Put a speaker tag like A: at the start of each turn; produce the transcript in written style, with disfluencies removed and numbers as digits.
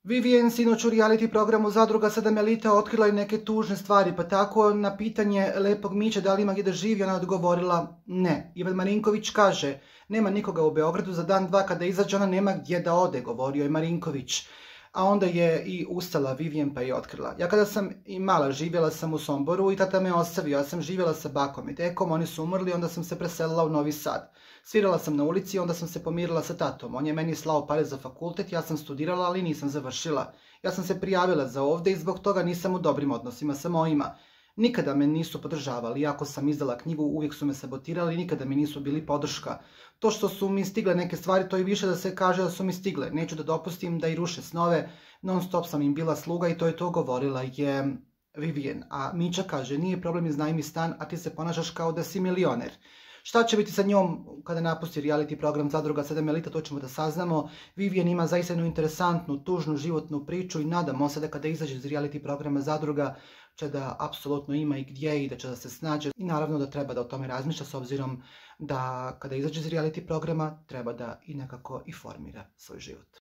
A: Vivienne sinoć u reality programu Zadruga 7 Elita otkrila je neke tužne stvari, pa tako na pitanje lepog Miće da li ima gdje da živi, ona je odgovorila ne. Ivan Marinković kaže, nema nikoga u Beogradu, za dan dva kada izađe ona nema gdje da ode, govorio je Marinković. A onda je i ustala Vivienne pa je otkrila. Ja kada sam i mala živjela sam u Somboru i tata me ostavio, ja sam živjela sa bakom i dekom, oni su umrli, onda sam se preselila u Novi Sad. Svirala sam na ulici, onda sam se pomirila sa tatom, on je meni slao pare za fakultet, ja sam studirala, ali nisam završila. Ja sam se prijavila za ovdje i zbog toga nisam u dobrim odnosima sa mojima. Nikada me nisu podržavali, iako sam izdala knjigu, uvijek su me sabotirali i nikada mi nisu bili podrška. To što su mi stigle neke stvari, to je više da se kaže da su mi stigle. Neću da dopustim da i ruše snove, non stop sam im bila sluga i to je to, govorila je Vivienne. A Mića kaže, nije problem, iznajmi stan, a ti se ponašaš kao da si milioner. Šta će biti sa njom kada napusti reality program Zadruga 7 Elita, to ćemo da saznamo. Vivienne ima zaista jednu interesantnu, tužnu životnu priču i nadamo se da kada izađe iz reality programa Zadruga će da apsolutno ima i gdje i da će da se snađe. I naravno da treba da o tome razmišlja s obzirom da kada izađe iz reality programa treba da i nekako i formira svoj život.